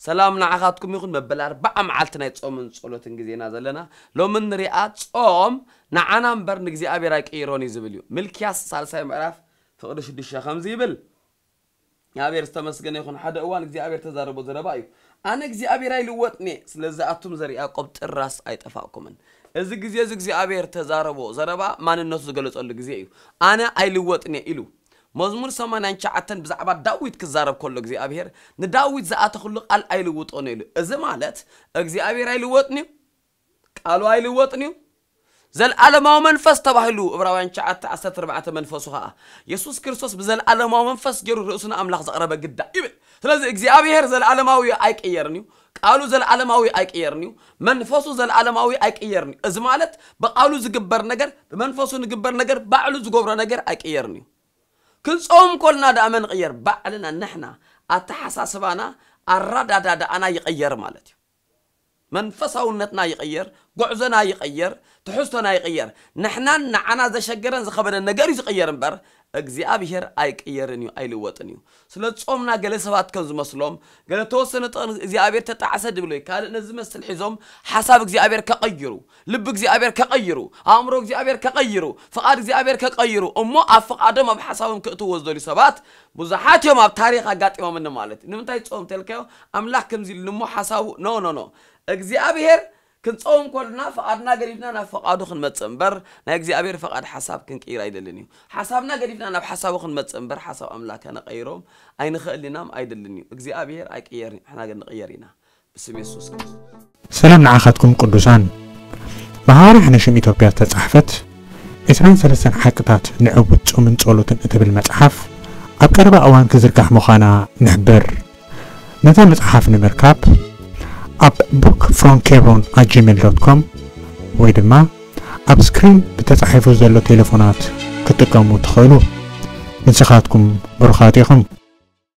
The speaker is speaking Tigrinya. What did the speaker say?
ሰላም ንዓኻትኩም ይኹን። መበል ኣርባዓ መዓልቲ ናይ ጾምን ጸሎትን ግዜና ዘለና። ሎሚ ንሪኣ ጾም ንዓና እምበር ንእግዚኣብሔር ኣይቅይሮን እዩ ዝብል እዩ። ሚልክያስ ሳልሳይ ምዕራፍ ፍቕዲ ሽዱሽተ ከምዚ ይብል። እግዚኣብሔር ዝተመስገነ ይኹን። ሓደ እዋን እግዚኣብሔር ተዛረቦ ዘረባ እዩ። ኣነ እግዚኣብሔር ኣይልወጥን እየ፣ ስለዚ ኣቱም ዘር ያዕቆብ ጥራስ ኣይጠፋእኩምን። እዚ ግዜ እዚ እግዚኣብሔር ተዛረቦ ዘረባ ማንነቱ ዝገለጸሉ ግዜ እዩ። ኣነ ኣይልወጥን እየ ኢሉ። መዝሙር ሰማንያን ትሽዓተን ብዛዕባ ዳዊት ክዛረብ ከሎ እግዚኣብሔር ንዳዊት ዝኣተኽሉ ቃል ኣይልውጦን እዩ ኢሉ። እዚ ማለት እግዚኣብሔር ኣይልወጥን እዩ፣ ቃሉ ኣይልወጥን እዩ። ዘልኣለማዊ መንፈስ ተባሂሉ ዕብራውያን ትሽዓተ ዓሰርተ ኣርባዕተ መንፈሱ ኸዓ የሱስ ክርስቶስ ብዘልኣለማዊ መንፈስ ገይሩ ርእሱ ንኣምላኽ ዘቕረበ ግዳ ይብል። ስለዚ እግዚኣብሔር ዘልኣለማዊ ኣይቅየርን እዩ። ቃሉ ዘልኣለማዊ ኣይቅየርን እዩ። መንፈሱ ዘልኣለማዊ ኣይቅየርን እዩ። እዚ ማለት ብቃሉ ዝግበር ነገር፣ ብመንፈሱ ንግበር ነገር፣ ባዕሉ ዝገብሮ ነገር ኣይቅየርን እዩ። ክንጾም ኮልና ደኣ መን ይቕየር? ባዕልና ንሕና፣ ኣተሓሳስባና፣ ኣረዳዳዳኣና ይቕየር ማለት እዩ። መንፈሳውነትና ይቕየር፣ ጉዕዞና ይቕየር፣ ትሕዝቶና ይቕየር። ንሕናን ንዓና ዘሸገረን ዝኸበደን ነገር እዩ ዝቕየር እምበር እግዚኣብሔር ኣይቅየርን እዩ፣ ኣይልወጥን እዩ። ስለ ጾምና ገለ ሰባት ከም ዝመስሎም፣ ገለ ተወሰነ ጥቕን እግዚኣብሔር ተጣዕሰ ድብሎ እዩ። ካልእ ነዚ ዝመስል ሒዞም ሓሳብ እግዚኣብሔር ከቐይሩ፣ ልቢ እግዚኣብሔር ከቐይሩ፣ ኣእምሮ እግዚኣብሔር ከቐይሩ፣ ፍቓድ እግዚኣብሔር ከቐይሩ፣ እሞ ኣብ ፍቓዶም ኣብ ሓሳቦም ክእትዎ ዝደልዩ ሰባት ብዙሓት እዮም ኣብ ታሪኽ ኣጋጢሞምኒ ማለት እዩ። ንምንታይ ጾም ተልካዮ? ኣምላኽ ከምዚ ኢሉ እሞ ሓሳቡ፣ ኖ፣ ኖ፣ ኖ። እግዚኣብሔር ክንጾም ከልና ፍቓድና ገዲፍና ናብ ፍቓዱ ክንመጽእ እምበር ናይ እግዚኣብሔር ፍቓድ ሓሳብ ክንቅይር ኣይደልን እዩ። ሓሳብና ገዲፍና ናብ ሓሳቡ ክንመጽእ እምበር ሓሳብ ኣምላኽ ከነቐይሮም ኣይንኽእልን ኢና፣ ኣይደልን እዩ። እግዚኣብሔር ኣይቅየርን እዩ፣ ንሕና ግን ንቕየር ኢና። ብስም የሱስ ክርስቶስ። ሰላም ንዓኻትኩም ቅዱሳን። ብሃዋርያ ሕነ ሽም ኢትዮጵያ ዝተጻሕፈት ዕስራን ሰለስተን ሓቅታት ንዕውት ጾምን ጸሎትን እትብል መጽሓፍ ኣብ ቀረባ እዋን ክዝርጋሕ ምዃና ንሕብር። ነዛ መጽሓፍ ንምርካብ ኣብ book from Kebron at gmail dot com ወይ ድማ ኣብ ስክሪን ብተጻሒፉ ዘሎ ቴሌፎናት ክትጥቀሙ ትኽእሉ። ንስኻትኩም ብሩኻት ኢኹም።